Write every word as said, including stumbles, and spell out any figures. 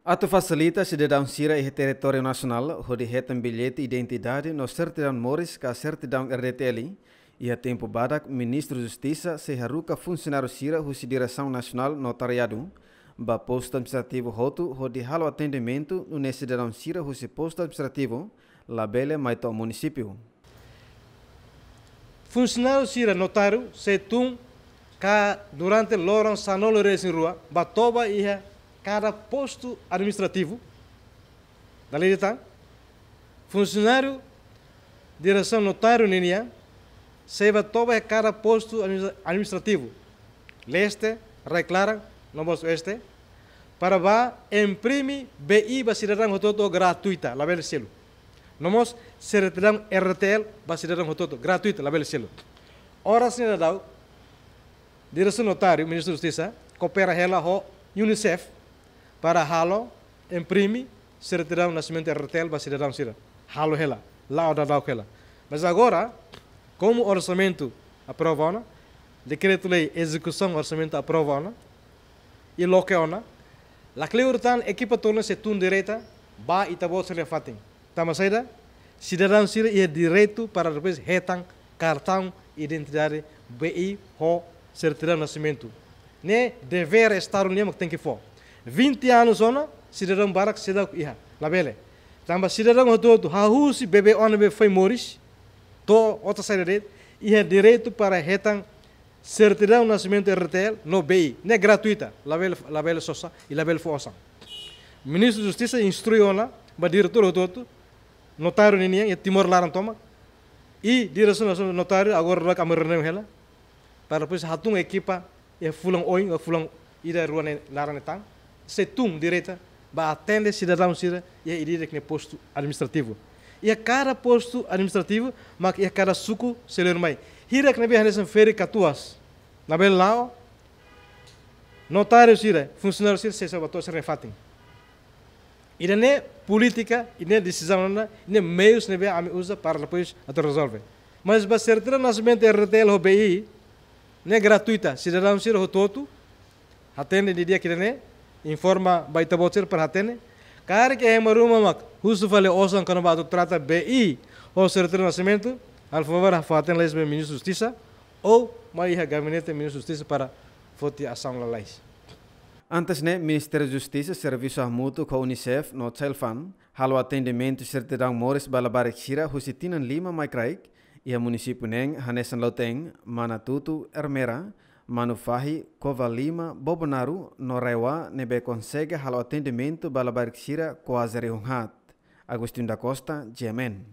Atu fasilita sidadaun sira iha territóriu nasionál hodi hetan billete identidade no sertidaun moris ka sertidaun R D T L, iha tempu badak Ministru Justisa sei haruka funsionáriu sira husi Diresaun Nasionál Notariadu ba postu administrativu hotu hodi halo atendimentu nune'e sidadaun sira husi postu administrativu labele mai to'o munisípiu. Funsionáriu sira notáriu sei tun ka durante loron sanulu-resin-rua ba toba iha kada postu administrativu. Dala ida tan, funsionáriu diresaun notáriu ninian sei ba toba iha kada postu administra-, administrativu, leste, rai-klaran, no mós oeste, para ba imprime B I ba sidadaun hotu-hotu gratuita, labele selu. No mós sertidaun R D T L ba sidadaun hotu-hotu gratuita, labele selu. Oras ne'e daudaun, Diresaun Notáriu, Ministru Justisa, koopera hela ho UNICEF para halo imprime sertidaun nasimentu R D T L ba sidadaun sira. Halo hela, la'o daudauk hela. Mas agora, komu orsamentu aprova ona, dekretu-lei ezekusaun orsamentu aprova ona, i loke ona, lakleur tan ekipa tolu ne'e sei tun direta ba ita-boot sira-nia fatin. Tanba saida, sidadaun sira iha direitu para depois hetan kartaun identidade, B I ho sertidaun nasimentu. Ne'e devér Estadu nian mak tenke fó. Vinte anos ona, sidadaun barak seidauk iha, labele. Tanba sidadaun hotu-hotu, hahú husi bebé ona be foin moris to'o otas saida de'it, iha direitu para hetan sertidaun nasimentu R D T L no B I. Ne'e gratuita, labele, labele sosa i labele fó osan. Ministru Justisa instrui ona ba diretór hotu-hotu, notáriu ninian iha Timor laran tomak, i Diresaun Nasionál Notáriu agora daudauk ami reuniaun hela, para depois hatun ekipa iha fulan oin, iha fulan ida rua ne'e laran ne'e tan, sei tun direta ba atende sidadaun sira iha ida-idak nia postu administrativu. Iha kada postu administrativu, mak iha kada suku sei lori mai. Hirak ne'ebé hanesan ferik katuas, labele la'o, notáriu sira, funsionáriu sira sei, sei ba to'o sira-nia fatin. Ida-ne'e polítika, ida-ne'e desizaun ona, ida-ne'e meius ne'ebé ami uza para depois atu rezolve. Mas ba sertidaun nasimentu R D T L ho B I, ne'e gratuita, sidadaun sira hotu-hotu, hatene didi'ak ida-ne'e, informa ba ita-boot sira para hatene. Karik iha ema ruma mak husu fali osan kona-ba atu trata B I ho sertidaun nasimentu, halo favór fó-hatene lalais ba Ministru Justisa, ou mai iha gabinete Ministru Justisa para foti asaun lalais. Antes ne'e, Ministériu Justisa servisu hamutuk ho UNICEF no Child Fund halo atendimentu sertidaun moris ba labarik sira husi tinan lima mai kraik, iha munisípiu neen hanesan Lautein, Manatuto, Ermera, Manufahi, Covalima, Bobonaro no RAEOA ne'ebé konsege halo atendimentu ba labarik sira kuaze rihun haat. Agostinho da Costa, G M N.